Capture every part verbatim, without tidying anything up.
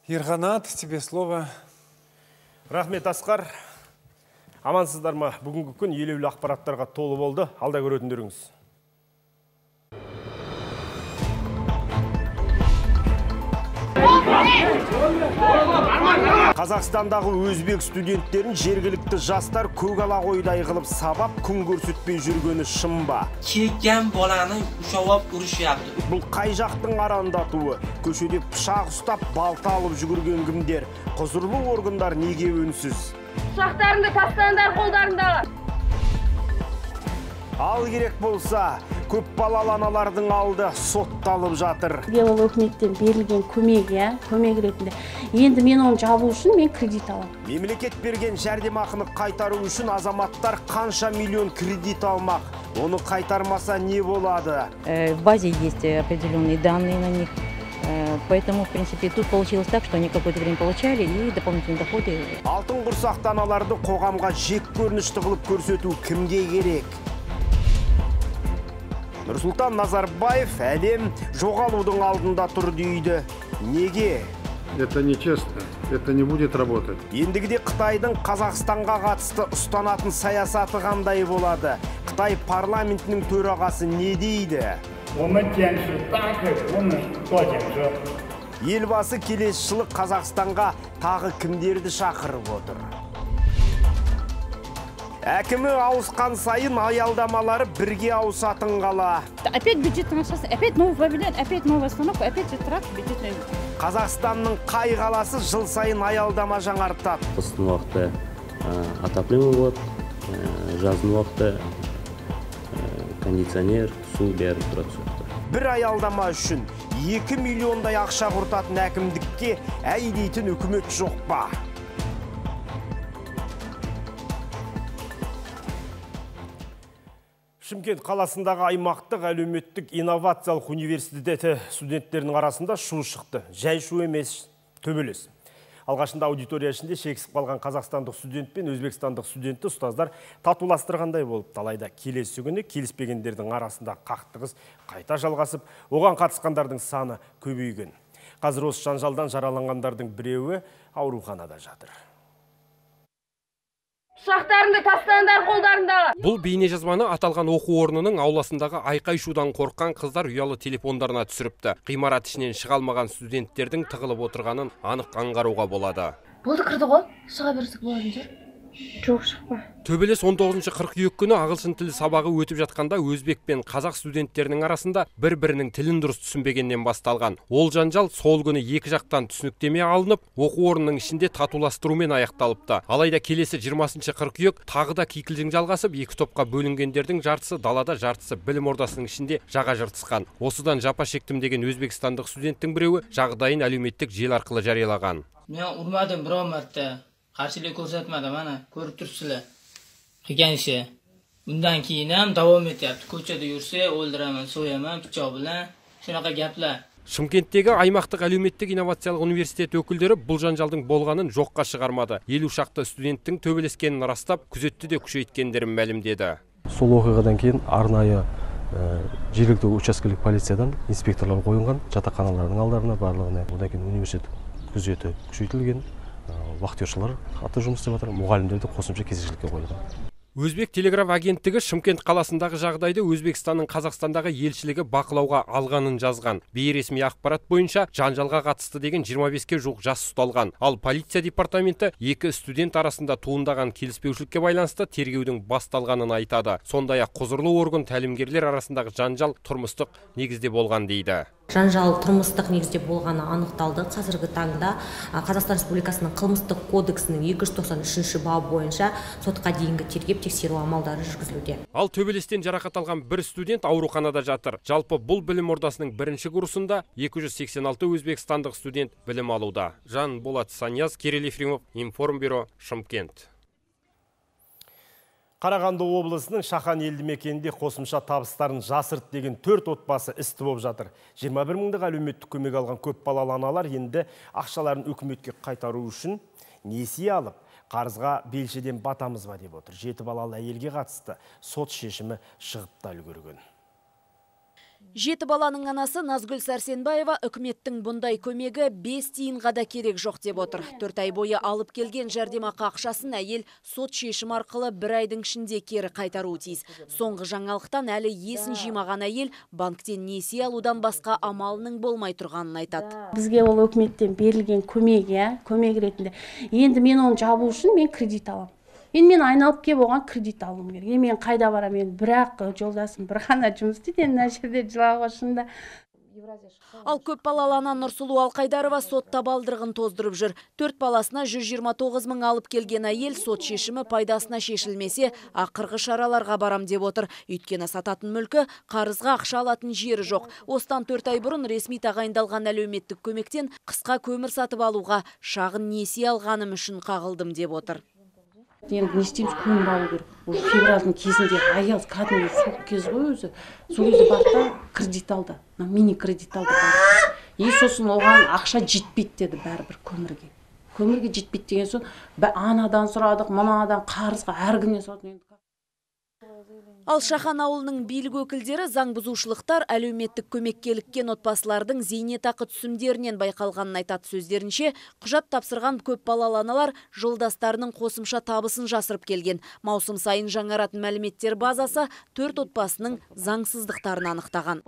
Ерғанат, тебе слово. Рахмет, Асқар. Амансыздар ма? Бүгінгі күн елеулі ақпараттарға толы болды. Алда көретіндеріңіз. Қазақстандағы өзбек студенттерін жергілікті жастар көгала қойдай қылып сабап күн көрсетпей жүргені шын ба? Келген баланы ушалап ұрышыпты. Бұл қай жақтың арандатуы? Көшеде пышақ ұстап балта алып жүгірген кімдер? Құзырлы органдар неге үнсіз? Пышақтарыңды тастаңдар қолдарыңдағы. Ал керек болса, көп балалы аналардың алды сотталып жатыр. Белгілі өкіметтен берілген көмек, иә, көмек ретінде. Енді мен оны жабу үшін мен кредит аламын. Мемлекет берген жәрдемақыны қайтару үшін азаматтар қанша миллион кредит алмақ? Оны қайтармаса не болады? В базе есть определенные данные на них. Поэтому, в принципе, тут получилось так, что они какое-то время получали и дополнительные доходы. Алтын құрсақты аналарды қоғамға жек көрінішті қылып көрсету кімге керек? Нұрсұлтан Назарбаев әлем жоғалудың алдында тұр дейді. Неге? Это нечестно, это не будет работать. Ендігіде Қытайдың Қазақстанға қатысты ұстанатын саясаты қандай болады? Қытай парламентінің төрағасы не дейді? Елбасы келесі жылы Қазақстанға тағы кімдерді шақырып отыр? Әкімі ауысқан сайын аялдамалары бірге ауысатын қала. Опять бюджет нашасы, опять новый павильон, опять новая остановка, опять же трак бюджетный. Қазақстанның қай қаласы жыл сайын аялдама жаңартады? Қыстың уақыты отопление болады, жаздың уақыты кондиционер, су бәрі тұрады. Бір аялдама үшін екі миллиондай ақша құртатын әкімдікке әй дейтін үкімет жоқ па? Шымкент қаласындағы аймақтық әлеуметтік инновациялық университеті студенттерінің арасында шу шықты. Жай шу емес, төбелес. Алғашында аудитория ішінде шексіп қалған қазақстандық студент пен өзбекстандық студентті ұстаздар татуластырғандай болып, талайда келесі күні келіспегендердің арасында қақтығыс қайта жалғасып, оған қатысқандардың саны көбейген. Қазір осы жанжалдан жараланғандардың біреуі ауруханада жатыр. Пышақтарыңды тастаңдар қолдарыңдағы. Бұл бейне жазбаны аталған оқу орнының ауласындағы айқай-шудан қорыққан қыздар ұялы телефондарына түсіріпті. Ғимарат ішінен шыға алмаған студенттердің тығылып отырғанын анық аңғаруға болады. Болды, кірді ғой, шыға берсек болады жер. Жоқ, шықпа. Төбелес он тоғызыншы қыркүйек күні ағылшын тілі сабағы өтіп жатқанда өзбек пен қазақ студенттерінің арасында бір-бірінің тілін дұрыс түсінбегеннен басталған. Ол жанжал сол күні екі жақтан түсініктеме алынып, оқу орнының ішінде татуластырумен аяқталыпты. Алайда келесі жиырмасыншы қыркүйек тағы да кикілжің жалғасып, екі топқа бөлінгендердің жартысы далада, жартысы білім ордасының ішінде жаға жыртысқан. Осыдан жапа шектім деген өзбекстандық студенттің біреуі жағдайын әлеуметтік желі арқылы жариялаған. Мен ұрмадым бір омартты. Қарсылық көрсетмеді, мана көріп тұрсыздар. Қиған іші. Bundan keyin ham davom etyapti. Ko'chada yursa, o'ldiraman, so'yaman, pichoq bilan. Shunaqa gaplar. Шымкенттегі аймақтық әлеуметтік инновациялық университет өкілдері бұл жанжалдың болғанын жоққа шығармады. Елу шақты студенттің төбелескенін растап, күзетті де күшейткендерін мәлімдеді. Сол оқиғадан кейін арнайы жергілікті учаскелік полициядан инспекторлар қойылған, жатақханалардың алдарына барлығына. Одан кейін университет күзеті күшейтілген. Вахтершылар аты жұмыс істеп жатыр, мұғалімдерді қосымша кезекшілікке қойылған. Өзбек телеграф агенттігі Шымкент қаласындағы жағдайды Өзбекстанның Қазақстандағы елшілігі бақылауға алғанын жазған. Бейресми ақпарат бойынша жанжалға қатысты деген жиырма беске жуық жас ұсталған. Ал полиция департаменті екі студент арасында туындаған келіспеушілікке байланысты тергеудің басталғанын айтады. Сондай-ақ құзырлы орган тәлімгерлер арасындағы жанжал тұрмыстық негізде болған дейді. Жанжал тұрмыстық негізде болғаны анықталды. Қазіргі таңда Қазақстан Республикасының қылмыстық кодексінің екі жүз тоқсан үшінші бабы бойынша сотқа дейінгі тергеп тексеру амалдары жүргізілуде. Ал төбелестен жарақат алған бір студент ауруханада жатыр. Жалпы бұл білім ордасының бірінші курсында екі жүз сексен алты өзбекстандық студент білім алуда. Жан Болат Санияз, Кирилл Ефремов, Информбюро, Шымкент. Қарағанды облысының Шахан елді мекенінде қосымша табыстарын жасырт деген төрт отбасы істі болып жатыр. жиырма бір мыңдық әлеуметтік көмек алған көп балалы аналар енді ақшаларын үкіметке қайтару үшін несие алып, қарызға белшеден батамыз ба деп отыр. Жеті балалы әйелге қатысты сот шешімі шығып та үлгерген. Жеті баланың анасы Назгүл Сәрсенбаева үкіметтің бұндай көмегі бес тиынға да керек жоқ деп отыр. Төрт ай бойы алып келген жәрдемақы ақшасын әйел сот шешім арқылы бір айдың ішінде кері қайтаруы тиіс. Соңғы жаңалықтан әлі есін жимаған әйел банктен несие алудан басқа амалының болмай тұрғанын айтады. Бізге ол үкіметтен берілген көмек, иә, көмек ретінде. Енді мен оны жабу үшін мен кредит аламын. Енді мен айналып кеп оған кредит алуым керек. Енді мен қайда барамын? Бірақ жолдасым бір ғана жұмыс істейді, мына жерде жылауға шында. Ал көп балалы ана Нұрсұлу Алқайдарова сот табалдырығын тоздырып жүр. Төрт баласына жүз жиырма тоғыз мың алып келген әйел сот шешімі пайдасына шешілмесе, ақырғы шараларға барам деп отыр. Өйткені сататын мүлкі қарызға ақша алатын жері жоқ. Осыдан төрт ай бұрын ресми тағайындалған әлеуметтік көмектен қысқа көмір сатып алуға шағын несие алғаным үшін қағылдым деп отыр. Енді не істейміз, көмір алу керек. Уже февральдың кезінде аяз кәдімгі суық кез ғой өзі. Сол кезде барды кредит алды. Мини кредит алды. И сосын оған ақша жетпейді деді бәрібір көмірге. Көмірге жетпейді деген соң анадан сұрадық, мынадан қарызға әр күннен сұрадық. Ал Шахан ауылының билік өкілдері заң бұзушылықтар әлеуметтік көмекке іліккен отбасылардың зейнетақы түсімдерінен байқалғанын айтады. Сөздерінше, құжат тапсырған көп балалы аналар жолдастарының қосымша табысын жасырып келген. Маусым сайын жаңаратын мәліметтер базасы төрт отбасының заңсыздықтарын анықтаған.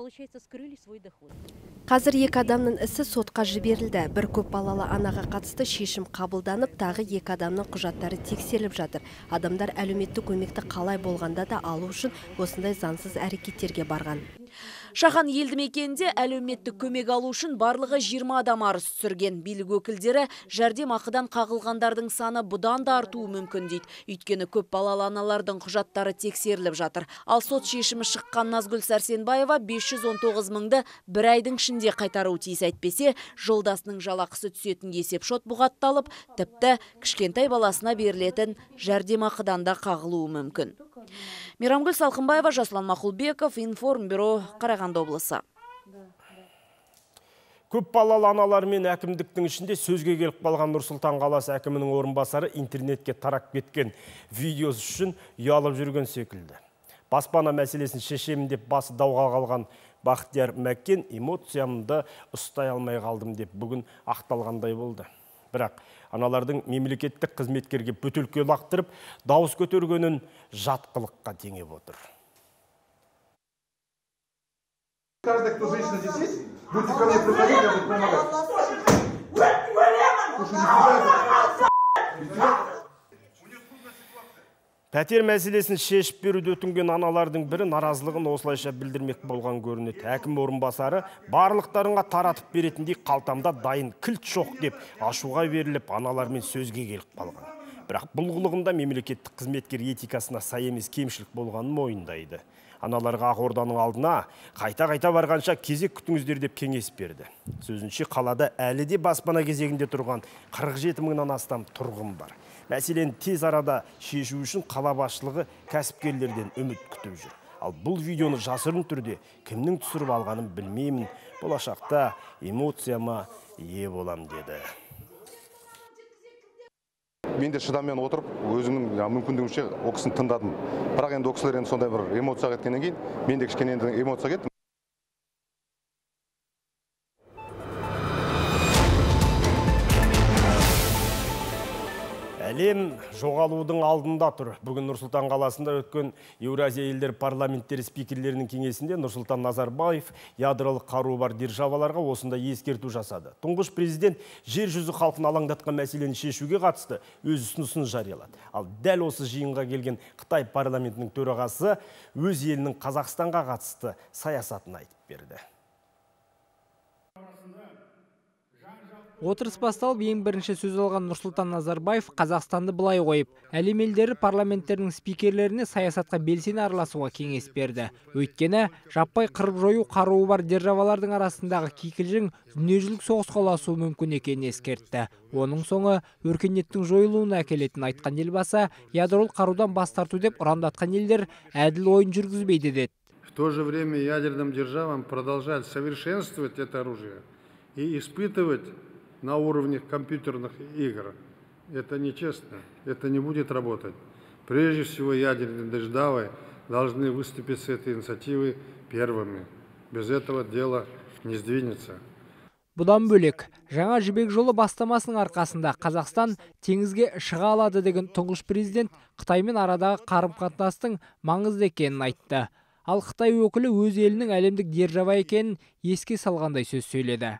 Қазір екі адамның ісі сотқа жіберілді. Бір көп балалы анаға қатысты шешім қабылданып, тағы екі адамның құжаттары тексеріліп жатыр. Адамдар әлеуметтік көмекті қалай болғанда да алу үшін осындай заңсыз әрекеттерге барған. Шахан елді мекенінде әлеуметтік көмек алу үшін барлығы жиырма адам арыз түсірген. Билік өкілдері жәрдемақыдан қағылғандардың саны бұдан да артуы мүмкін дейді. Өйткені көп балалы аналардың құжаттары тексеріліп жатыр. Ал сот шешімі шыққан Назгүл Сәрсенбаева бес жүз он тоғыз мыңды бір айдың ішінде қайтаруы тиіс, әйтпесе жолдасының жалақысы түсетін есепшот бұғатталып, тіпті кішкентай баласына берілетін жәрдемақыдан да қағылуы мүмкін. Мейрамгүл Салқынбаева, Жасұлан Мақұлбеков, Информбюро, Қарағанды облысы. Көп балалы аналар мен әкімдіктің ішінде сөзге келіп қалған Нұр-Сұлтан қаласы әкімінің орынбасары интернетке тарап кеткен видеосы үшін ұялып жүрген секілді. Баспана мәселесін шешемін деп басы дауға қалған Бақтияр Мәккен эмоциямды ұстай алмай қалдым деп бүгін ақталғандай болды. Бірақ аналардың мемлекеттік қызметкерге бөтелке лақтырып, дауыс көтергенін жатқылыққа теңеп отыр. Каждый, кто женщина здесь есть, будете ко мне приходить, я буду помогать. Пәтер мәселесін шешіп беруді өтінген аналардың бірі наразылығын осылайша білдірмек болған көрінеді. Әкім орынбасары барлықтарыңға таратып беретіндей қалтамда дайын кілт жоқ деп ашуға беріліп, аналармен сөзге келіп қалған. Бірақ бұл қылығында мемлекеттік қызметкер этикасына сай емес кемшілік болғанын мойындайды. Аналарға Ақорданың алдына қайта-қайта барғанша кезек күтіңіздер деп кеңес берді. Сөзінше қалада әлі де баспана кезегінде тұрған қырық жеті мыңнан астам тұрғын бар. Мәселен, тез арада шешу үшін қала басшылығы кәсіпкерлерден үміт күтіп жүр. Ал бұл видеоны жасырын түрде кімнің түсіріп алғанын білмеймін. Болашақта эмоцияма ие болам деді. Мен де шыдаммен отырып, өзімнің мүмкіндігімше о кісіні тыңдадым. Бірақ енді о кісілер енді сондай бір эмоция кеткеннен кейін, мен де кішкене енді эмоция кеттім. Әлем жоғалудың алдында тұр. Бүгін Нұр-Сұлтан қаласында өткен Еуразия елдер парламенттері спикерлерінің кеңесінде Нұрсұлтан Назарбаев ядролық қаруы бар державаларға осында ескерту жасады. Тұңғыш президент жер жүзі халқын алаңдатқан мәселені шешуге қатысты өз ұсынысын жариялады. Ал дәл осы жиынға келген Қытай парламентінің төрағасы өз елінің Қазақстанға қатысты саясатын айтып берді. Отырыс басталып, ең бірінші сөз алған Нұрсұлтан Назарбаев Қазақстанды былай қойып, әлем елдері парламенттерінің спикерлеріне саясатқа белсене араласуға кеңес берді. Өйткені жаппай қырып жою қаруы бар державалардың арасындағы кикілжің дүниежүзілік соғысқа ұласуы мүмкін екенін ескертті. Оның соңы өркениеттің жойылуына әкелетінін айтқан елбасы, ядролық қарудан бас тарту деп ұрандатқан елдер әділ ойын жүргізбейді деді. В то же время ядерным державам продолжать совершенствовать это оружие и испытывать на уровне компьютерных игр. Это нечестно, это не будет работать. Прежде всего, ядерные державы должны выступить с этой инициативой первыми, Без этого дело не сдвинется. Бұдан бөлек, жаңа жібек жолы бастамасының арқасында Қазақстан теңізге шыға алады деген тұңғыш президент Қытаймен арадағы қарым-қатынастың маңызды екенін айтты. Ал Қытай өкілі өз елінің әлемдік держава екенін еске салғандай сөз сөйледі.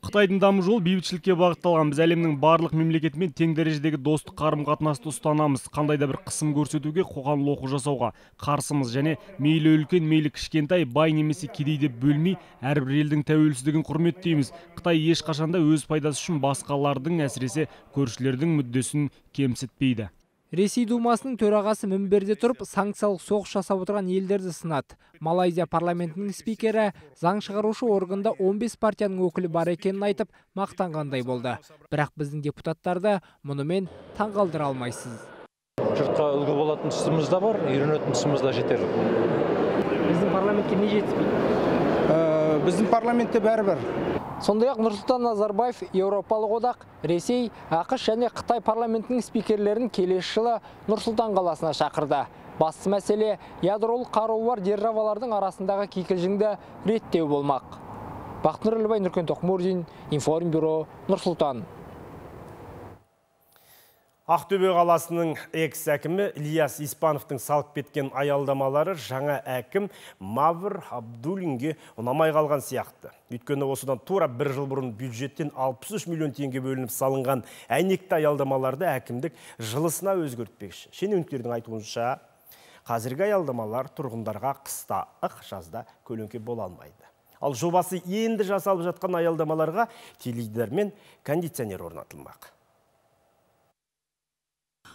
Қытайдың даму жолы бейбітшілікке бағытталған. Біз әлемнің барлық мемлекетімен тең дәрежедегі достық қарым-қатынасты ұстанамыз. Қандай да бір қысым көрсетуге, қоғам лоқы жасауға қарсымыз және мейлі үлкен, мейлі кішкентай, бай немесе кедей деп бөлмей, әрбір елдің тәуелсіздігін құрметтейміз. Қытай ешқашанда өз пайдасы үшін басқалардың, әсіресе көршілердің мүддесін кемсітпейді. Ресей Думасының төрағасы мінберде тұрып, санкциялық соғыс жасап отырған елдерді сынады. Малайзия парламентінің спикері заң шығарушы органда он бес партияның өкілі бар екенін айтып, мақтанғандай болды. Бірақ біздің депутаттарды мұнымен таңғалдыра алмайсыз. Жұртқа үлгі болатын тұсымыз да бар, үйренетін тұсымыз да жетер. Біздің парламентке не жетіспейді? Біздің парламентте бәрі-бір. Сондай-ақ Нұрсұлтан Назарбаев Еуропалық одақ, Ресей, ақш және Қытай парламентінің спикерлерін келесі жылы Нұрсұлтан қаласына шақырды. Басты мәселе ядролық қаруы бар державалардың арасындағы кикілжіңді реттеу болмақ. Бақтынұр Ілбай, Нұркен Тоқмурзин, Информбюро, Нұрсұлтан. Ақтөбе қаласының экс-әкімі Ильяс Испановтың салып кеткен аялдамалары жаңа әкім Мавр Абдуллинге ұнамай қалған сияқты. Өйткені осыдан тура бір жыл бұрын бюджеттен алпыс үш миллион теңге бөлініп салынған әйнекті аялдамаларды әкімдік жылысына өзгертпекші. Шенеуніктердің айтуынша, қазіргі аялдамалар тұрғындарға қыста, ық жазда көлеңке бола алмайды. Ал жобасы енді жасалып жатқан аялдамаларға теледидар мен кондиционер орнатылмақ.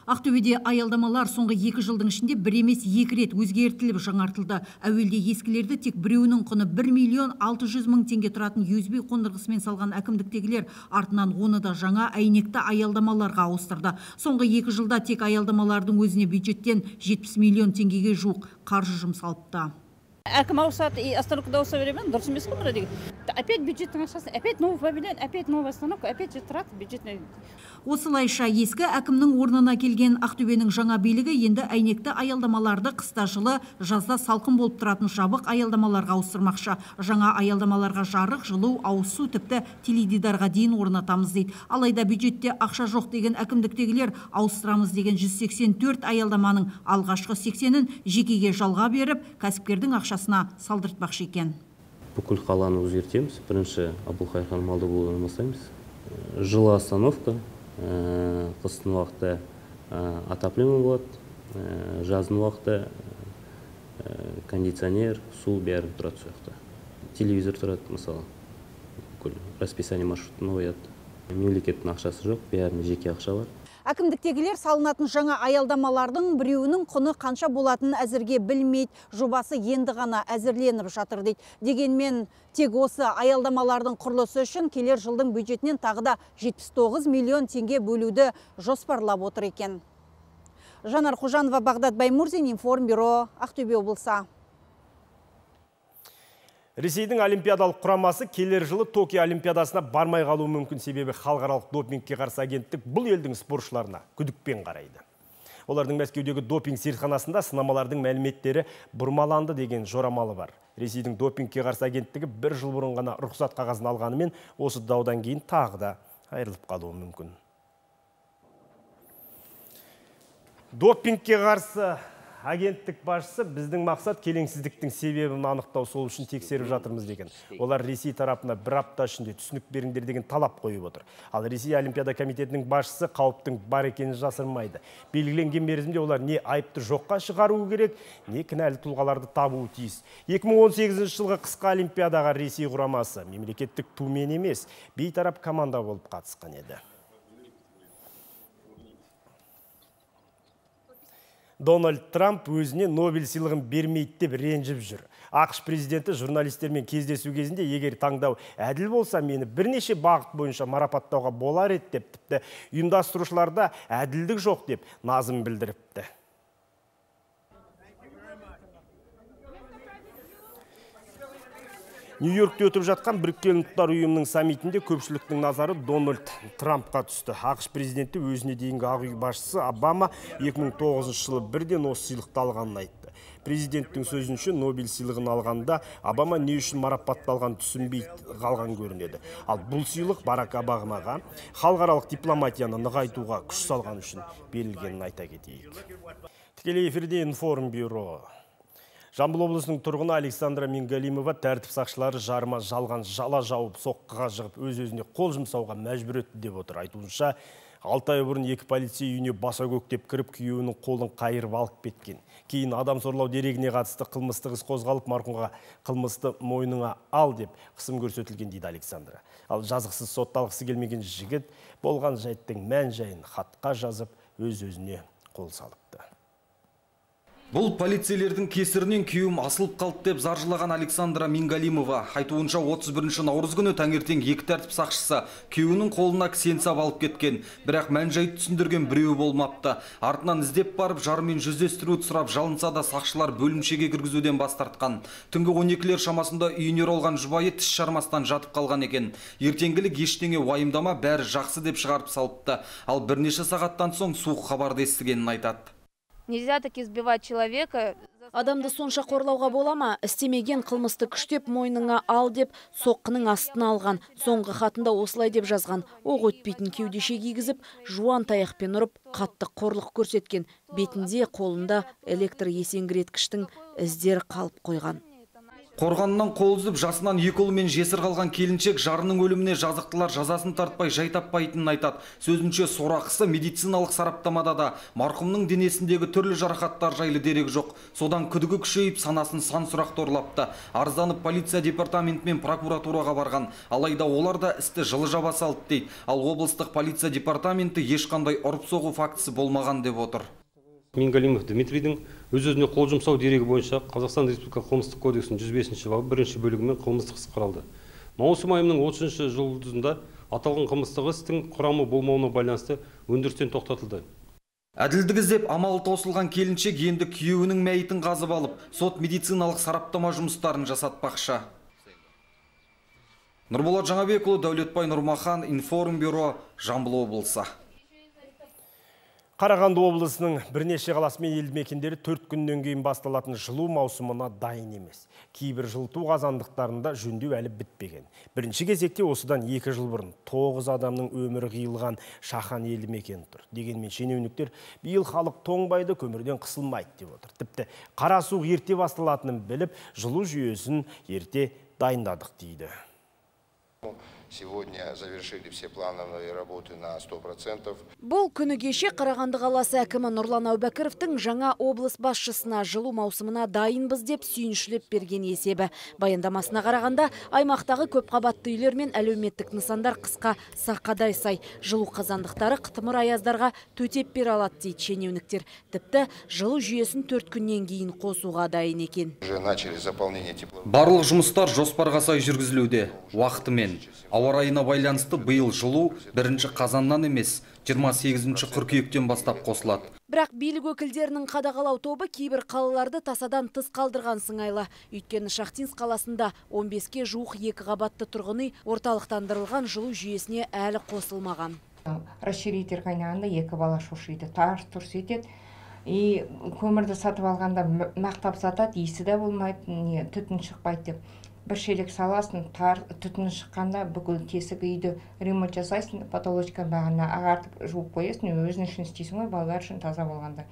Ақтөбеде аялдамалар соңғы екі жылдың ішінде бір емес екі рет өзгертіліп жаңартылды. Әуелде ескілерді тек біреуінің құны бір миллион алты жүз мың теңге тұратын ю эс би қондырғысымен салған әкімдіктегілер артынан оны да жаңа әйнекті аялдамаларға ауыстырды. Соңғы екі жылда тек аялдамалардың өзіне бюджеттен жетпіс миллион теңгеге жуық қаржы жұмсалыпты. Әкім ауысады, и остановкада ауыса беремен, дұрыс емес қой деген. Опять бюджеттің ақшасы, опять новый павильон, опять новая остановка, опять же тұрады бюджетный. Осылайша ескі әкімнің орнына келген Ақтөбенің жаңа билігі енді әйнекті аялдамаларды қыста жылы, жазда салқын болып тұратын жабық аялдамаларға ауыстырмақшы. Жаңа аялдамаларға жарық, жылу, ауыз су, тіпті теледидарға дейін орнатамыз дейді. Алайда бюджетте ақша жоқ деген әкімдіктегілер ауыстырамыз деген жүз сексен төрт аялдаманың алғашқы сексенін жекеге жалға беріп, кәсіпкердің ақшасына салдыртпақшы екен. Бүкіл қаланы өзгертеміз. Бірінші Абылқайыр Малдыбұлынан бастаймыз. Жылы остановка, қыстың уақытта отопление болады, жаздың уақытта кондиционер, су бәрі тұрады сояқта. Телевизор тұрады, мысалы, бүкіл расписание маршрутын қояды. Мемлекеттің ақшасы жоқ, бәрінің жеке ақша бар. Әкімдіктегілер салынатын жаңа аялдамалардың біреуінің құны қанша болатынын әзірге білмейді. Жобасы енді ғана әзірленіп жатыр дейді. Дегенмен тек осы аялдамалардың құрылысы үшін келер жылдың бюджетінен тағы да жетпіс тоғыз миллион теңге бөлуді жоспарлап отыр екен. Жанар Қожанова, Бағдат Баймурзин, Информбюро, Ақтөбе облысы. Ресейдің олимпиадалық құрамасы келер жылы Токио олимпиадасына бармай қалуы мүмкін, себебі халықаралық допингке қарсы агенттік бұл елдің спортшыларына күдікпен қарайды. Олардың Мәскеудегі допинг зертханасында сынамалардың мәліметтері бұрмаланды деген жорамалы бар. Ресейдің допингке қарсы агенттігі бір жыл бұрын ғана рұқсат қағазын алғанымен, осы даудан кейін тағы да айырылып қалуы мүмкін. Допингке қарсы агенттік басшысы біздің мақсат келеңсіздіктің себебін анықтау, сол үшін тексеріп жатырмыз деген. Олар Ресей тарапына бір апта ішінде түсінік беріңдер деген талап қойып отыр. Ал Ресей Олимпиада комитетінің басшысы қауіптің бар екенін жасырмайды. Белгіленген мерзімде олар не айыпты жоққа шығаруы керек, не кінәлі тұлғаларды табуы тиіс. екі мың он сегізінші жылғы қысқы олимпиадаға Ресей құрамасы мемлекеттік тумен емес, бейтарап команда болып қатысқан еді. Дональд Трамп өзіне Нобель сыйлығын бермейді деп ренжіп жүр. ақш президенті журналистермен кездесу кезінде, егер таңдау әділ болса, мені бірнеше бағыт бойынша марапаттауға болар еді деп, тіпті ұйымдастырушыларда әділдік жоқ деп назым білдіріпті. Нью-Йоркте өтіп жатқан Біріккен ұлттар ұйымының саммитінде көпшіліктің назары Дональд Трампқа түсті. ақш президенті өзіне дейінгі Ақ үй басшысы Обама екі мың тоғызыншы жылы бірден осы сыйлықты алғанын айтты. Президенттің сөзінше Нобель сыйлығын алғанда Обама не үшін марапатталған түсінбей қалған көрінеді. Ал бұл сыйлық Барак Обамаға халықаралық дипломатияны нығайтуға күш салған үшін берілгенін айта кетейік. Тікелей эфирде Информбюро. Жамбыл облысының тұрғыны Александра Мингалимова тәртіп сақшылары жарма жалған жала жауып соққыға жығып өз-өзіне қол жұмсауға мәжбүр етті деп отыр. Айтуынша, алты ай бұрын екі полицей үйіне баса көктеп кіріп, күйеуінің қолын қайырып алып кеткен. Кейін адам зорлау дерегіне қатысты қылмыстық іс қозғалып, марқұмға қылмысты мойныңа ал деп қысым көрсетілген дейді Александра. Ал жазықсыз сотталғысы келмеген жігіт болған жайттың мән-жайын хатқа жазып өз-өзіне қол салыпты. Бұл полицейлердің кесірінен күйеуім асылып қалды деп заржылаған Александра Мингалимова. Айтуынша отыз бірінші наурыз күні таңертең екі тәртіп сақшысы күйеуінің қолына кісен сап алып кеткен. Бірақ мән-жайды түсіндірген біреу болмапты. Артынан іздеп барып жарымен жүздестіруді сұрап жалынса да сақшылар бөлімшеге кіргізуден бас тартқан. Түнгі он екілер шамасында үйіне оралған жұбайы тіс жармастан жатып қалған екен. Ертеңгілік ештеңе уайымдама, бәрі жақсы деп шығарып салыпты. Ал бірнеше сағаттан соң суық хабарды естігенін айтады. Нельзя таки избивать человека. Адамды сонша қорлауға болама, істемеген қылмысты күштеп мойныңа ал деп соққының астына алған. Соңғы хатында осылай деп жазған: оқ өтпейтін кеудеше кигізіп, жуан таяқпен ұрып, қатты қорлық көрсеткен. Бетінде, қолында электр есеңгіреткіштің іздері қалып қойған. Қорғанынан қол үзіп, жасынан екі ұлымен жесір қалған келіншек жарының өліміне жазықтылар жазасын тартпай жай таппайтынын айтады. Сөзінше сорақысы медициналық сараптамада да марқұмның денесіндегі түрлі жарақаттар жайлы дерек жоқ. Содан күдігі күшейіп, санасын сан сұрақ торлапты. Арызданып полиция департаменті мен прокуратураға барған. Алайда олар да істі жылы жаба салды дейді. Ал облыстық полиция департаменті ешқандай ұрып-соғу фактісі болмаған деп отыр. Мингалимов Дмитрийдің өз-өзіне қол жұмсау дерегі бойынша Қазақстан Республикасы қылмыстық кодексінің жүз бесінші бабы бірінші бөлігімен қылмыстық іс қаралды. Маусым айының отызыншы жұлдызында аталған қылмыстық істің құрамы болмауына байланысты өндірістен тоқтатылды. Әділдік іздеп амалы таусылған келіншек енді күйеуінің мәйітін қазып алып, сот медициналық сараптама жұмыстарын жасатпақшы. Нұрболат Жаңабекұлы, Дәулетбай Нұрмахан, Информбюро, Жамбыл облысы. Қарағанды облысының бірнеше қаласы мен елді мекендері төрт күннен кейін басталатын жылу маусымына дайын емес. Кейбір жылыту қазандықтарында жөндеу әлі бітпеген. Бірінші кезекте осыдан екі жыл бұрын тоғыз адамның өмірі қиылған Шахан елді мекені тұр. Дегенмен шенеуніктер биыл халық тоңбайды, көмірден қысылмайды деп отыр. Тіпті қара су ерте басталатынын біліп, жылу жүйесін ерте дайындадық дейді. Сегодня завершили все плановые работы на сто процентов. Бұл күні кеше Қарағанды қаласы әкімі Нұрлан Әубәкіровтің жаңа облыс басшысына жылу маусымына дайынбыз деп сүйіншілеп берген есебі. Баяндамасына қарағанда, аймақтағы көп қабатты үйлер мен әлеуметтік нысандар қысқа сақадай сай. Жылу қазандықтары қытымыр аяздарға төтеп бере алады дейді шенеуніктер. Тіпті жылу жүйесін төрт күннен кейін қосуға дайын екен. Барлық жұмыстар жоспарға сай жүргізілуде, уақытымен. Ауа райына байланысты биыл жылу бірінші қазаннан емес, жиырма сегізінші қыркүйектен бастап қосылады. Бірақ билік өкілдерінің қадағалау тобы кейбір қалаларды тасадан тыс қалдырған сыңайлы. Өйткені Шахтинск қаласында он беске жуық екі қабатты тұрғын үй орталықтандырылған жылу жүйесіне әлі қосылмаған. Расширитель қайнағанда екі бала шошиды, тарс тұрс етеді. И көмірді сатып алғанда мақтап сатады, иісі де болмайды, түтін шықпайды деп. Бір шелек саласын, түтін шыққанда бүкіл тесік үйді ремонт жасайсың, потолочка бағана ағартып жуып қоясың, өзің үшін істейсің ғой, балалар үшін таза болғанда.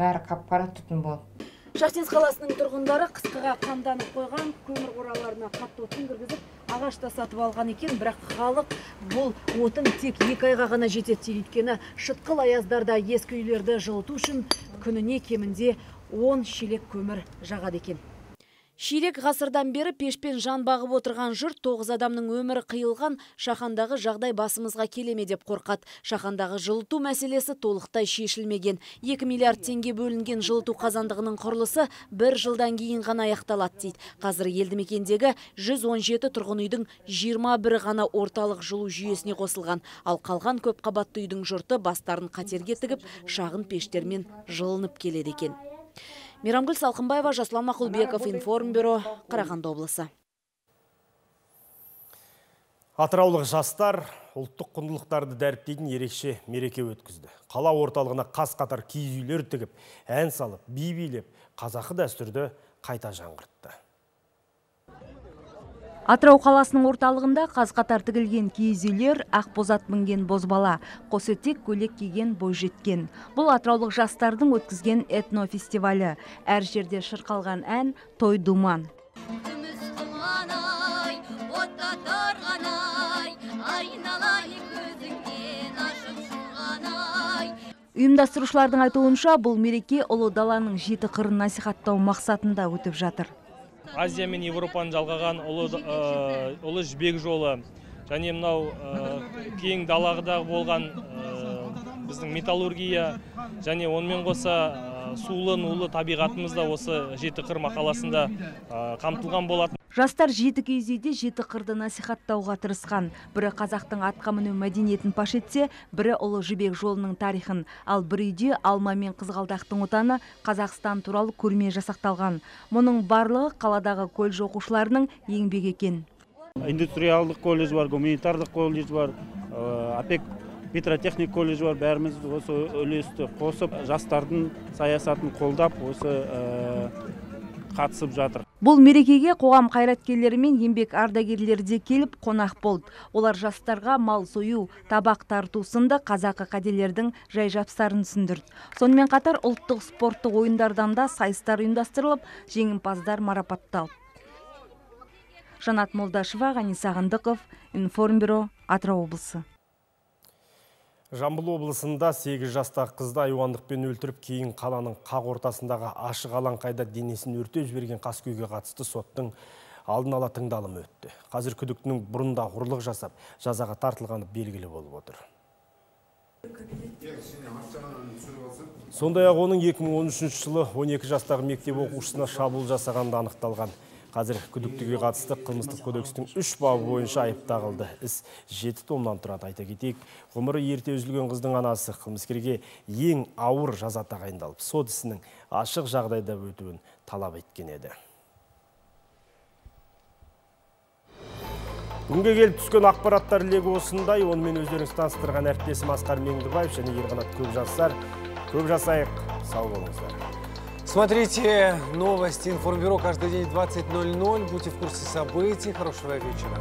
Бәрі қап-қара түтін болды. Шахтинск қаласының тұрғындары қысқыға қамданып қойған көмір қораларына қатты отын кіргізіп, ағашта сатып алған екен, бірақ халық бұл отын тек екі айға ғана жетеді. Өйткені шытқыл аяздарда ескі үйлерді жылыту үшін күніне кемінде он шелек көмір жағады екен. Ширек ғасырдан бері пешпен жан бағып отырған жұрт тоғыз адамның өмірі қиылған Шахандағы жағдай басымызға келеме деп қорқады. Шахандағы жылыту мәселесі толықтай шешілмеген. екі миллиард теңге бөлінген жылыту қазандығының құрылысы бір жылдан кейін ғана аяқталады дейді. Қазір елді мекендегі жүз он жеті тұрғын үйдің жиырма бірі ғана орталық жылу жүйесіне қосылған. Ал қалған көп қабатты үйдің жұрты бастарын қатерге тігіп, шағын пештермен жылынып келеді екен. Мейрамгүл Салқынбаева, Жасұлан Мақұлбеков, Информбюро, Қарағанды облысы. Атыраулық жастар ұлттық құндылықтарды дәріптейтін ерекше мереке өткізді. Қала орталығына қас-қатар киіз үйлер тігіп, ән салып, би билеп, қазақы дәстүрді қайта жаңғыртты. Атырау қаласының орталығында қаз-қатар тігілген киіз үйлер, ақ бозат мінген бозбала, қос етек көйлек киген бойжеткен. Бұл атыраулық жастардың өткізген этнофестивалі. Әр жерде шырқалған ән той думан. Ұйымдастырушылардың айтуынша, бұл мереке ұлы даланың жеті қырын насихаттау мақсатында өтіп жатыр. Азия мен Европаны жалғаған ұлы жібек жолы және мынау кең далағыдағы болған біздің металлургия және онымен қоса сулы нулы табиғатымыз да осы жеті қыр мақаласында қамтылған болатын. Жастар жеті киіз үйде жеті қырды насихаттауға тырысқан. Бірі қазақтың атқа міну мәдениетін паш етсе, бірі ұлы жібек жолының тарихын, ал бір үйде алма мен қызғалдақтың отаны Қазақстан туралы көрме жасақталған. Мұның барлығы қаладағы колледж оқушыларының еңбек екен. Индустриалдық колледж бар, гуманитарлық колледж бар, АПЕК петротехник колледж бар. Бәріміз осы үлесті қосып, жастардың саясатын қолдап, осы қатысып жатыр. Бұл мерекеге қоғам қайраткерлері мен еңбек ардагерлері де келіп қонақ болды. Олар жастарға мал сою, табақ тарту сынды қазақы қаделердің жай жапсарын түсіндірді. Сонымен қатар ұлттық спорттық ойындардан да сайыстар ұйымдастырылып, жеңімпаздар марапатталды. Жанат Молдашева, Ғани Сағындықов, Информбюро, Атырау облысы. Жамбыл облысында сегіз жастағы қызды айуандықпен өлтіріп, кейін қаланың қақ ортасындағы ашық алаңқайда денесін өртеп жіберген қаскөйге қатысты соттың алдын ала тыңдалымы өтті. Қазір күдіктінің бұрында ұрлық жасап, жазаға тартылғаны белгілі болып отыр. Сондай-ақ оның екі мың он үшінші жылы он екі жастағы мектеп оқушысына шабуыл жасағанды анықталған. Қазір күдіктіге қатысты қылмыстық кодекстің үш бабы бойынша айып тағылды. Іс жеті томнан тұрады. Айта кетейік, ғұмыры ерте үзілген қыздың анасы қылмыскерге ең ауыр жаза тағайындалып, сот ісінің ашық жағдайда өтуін талап еткен еді. Бүгінге келіп түскен ақпараттар легі осындай. Онымен өздеріңіз таныстырған әріптесім Асқар Меңдібаев және Ерқанат Көкжасар. Көп жасайық, сау болыңыздар. Смотрите новости Информбюро каждый день в двадцать ноль ноль. Будьте в курсе событий. Хорошего вечера.